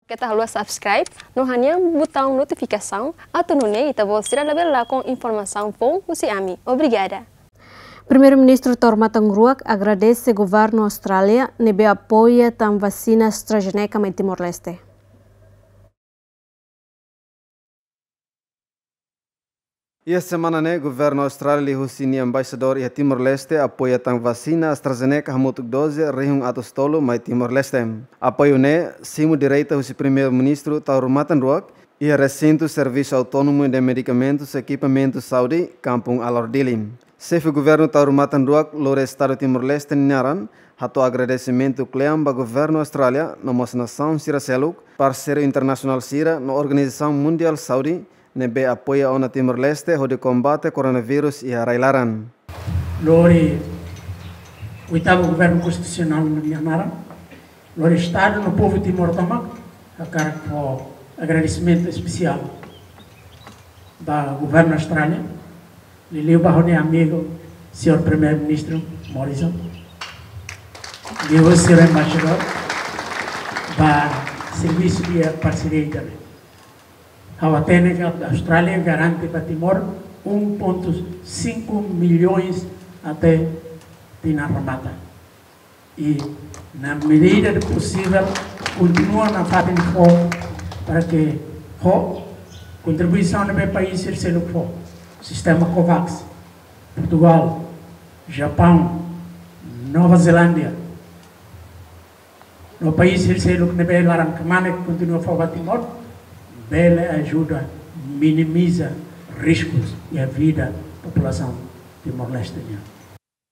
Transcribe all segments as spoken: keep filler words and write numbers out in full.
Keta haluha subscribe no hanehan butaun notifikasaun, atu nune'e ita-boot sira labele lakon informasaun foun husi ami. Obrigada. Primeiru-Ministru Taur Matan Ruak agradese Governu Austrália ne'ebé apoia tan vasina AstraZeneca mai Timor-Leste. Iha semana ne'e, Governu Austrália liuhusi nia embaixadór iha Timor-Leste apoia tan vasina AstraZeneca hamutuk doze rihun atus tolu mai Timor-Leste. Apoiu ne'e simu direta husi Primeiru-Ministru Taur Matan Ruak iha resintu Servisu Autónomu de Medikamentus no Ekipamentu Saúde, Kampung Alor, Dili. Xefe Governu Taur Matan Ruak lori Estadu Timor-Leste nia naran, hato'o agradesimentu kle'an ba Governu Austrália no mós nasaun sira seluk, parseiru internasionál sira no Organizasaun Mundiál Saúde, ne'ebé apoia ona Timor-Leste hodi kombate koronavírus iha rai-laran. Lori oitavu Governu Konstitusionál nia naran, lori Estadu no povu Timor tomak, hakarak fó agradesimentu espesiál ba Governu Austrália, liuliu ba ha'u-nia amigu, señór Primeiru-Ministru Morrison, liuhusi señór embaixadór, ba servisu de parseria ida-ne'e. Ha'u hatene katak Austrália garante ba Timor um ponto cinco milhões até tinan remata. I na medida do possível, kontinua nafatin fó para que ho kontribuisaun ne'ebé país sira seluk fó. Sistema COVAX, Portugal, Japaun, Nova Zelándia, no país sira seluk ne'ebé laran kmanek kontinua fó ba Timor, bele ajuda minimiza riskus iha vida populasaun Timor-Leste nian.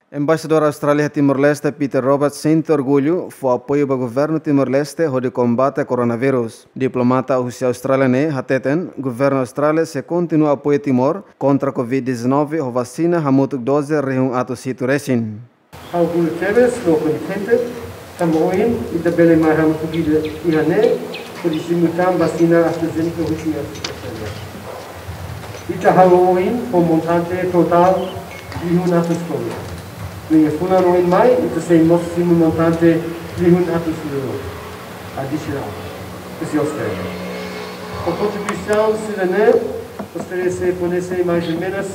Embaixadór Austrália iha Timor-Leste, Peter Roberts, sente orgullu fó apoiu ba Governu Timor-Leste hodi kombate koronavírus. Diplomata husi Austrália ne'e hateten, Governu Austrália sei kontinua apoia Timor kontra Covid dezanove ho vasina hamutuk doze rihun atus hitu resin. Ha'u orgullu tebes no kontente, tanba ohin ita bele mai hamutuk ida iha ne'e, hodi simu tan vasina AstraZeneca husi Austrália. Ita halo ohin ho montante totál rihun atus tolu. No iha fulan oin mai, ita sei mós simu montante rihun atus tolu adisionál husi Austrália. Ho kontribuisaun sira-ne'e, Austrália sei fó-nese mais ou menos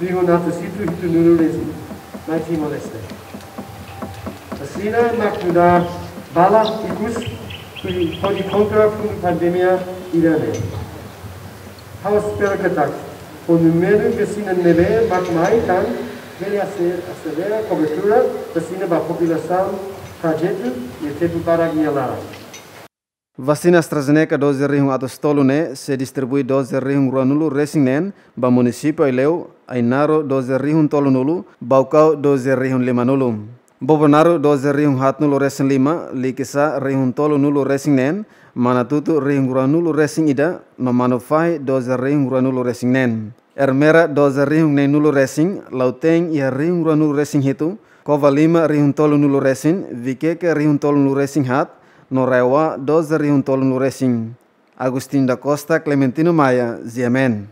rihun atus hitu hitunulu resin mai Timor-Leste. Vasina mak nu'udar bala ikus hodi, hodi kontra fulan pandemia ida-ne'e. Ha'u espera katak ho númeru vasina ne'ebé mak mai tan, bele ase-, aselera kobertura vasina ba populasaun trajetu iha tempu badak nia laran. Vasina AstraZeneca doze rihun atus tolu ne'e sei distribui doze rihun ruanulu resin neen ba munisípiu Aileu, Ainaro doze rihun tolunulu, Baucau doze rihun limanulu. Bobonaro doze rihun haatnulu resin lima, Likisá rihun tolunulu resin neen, Manatuto rihun ruanulu resin ida, no Manufahi doze rihun ruanulu resin neen. Ermera doze rihun neenulu resin, Lautein iha rihun ruanulu resin hitu, Covalima rihun tolunulu resin, Viqueque rihun tolunulu resin haat, no RAEOA doze rihun tolunulu resin. Agostinho da Costa, Clementino Maia, G M N.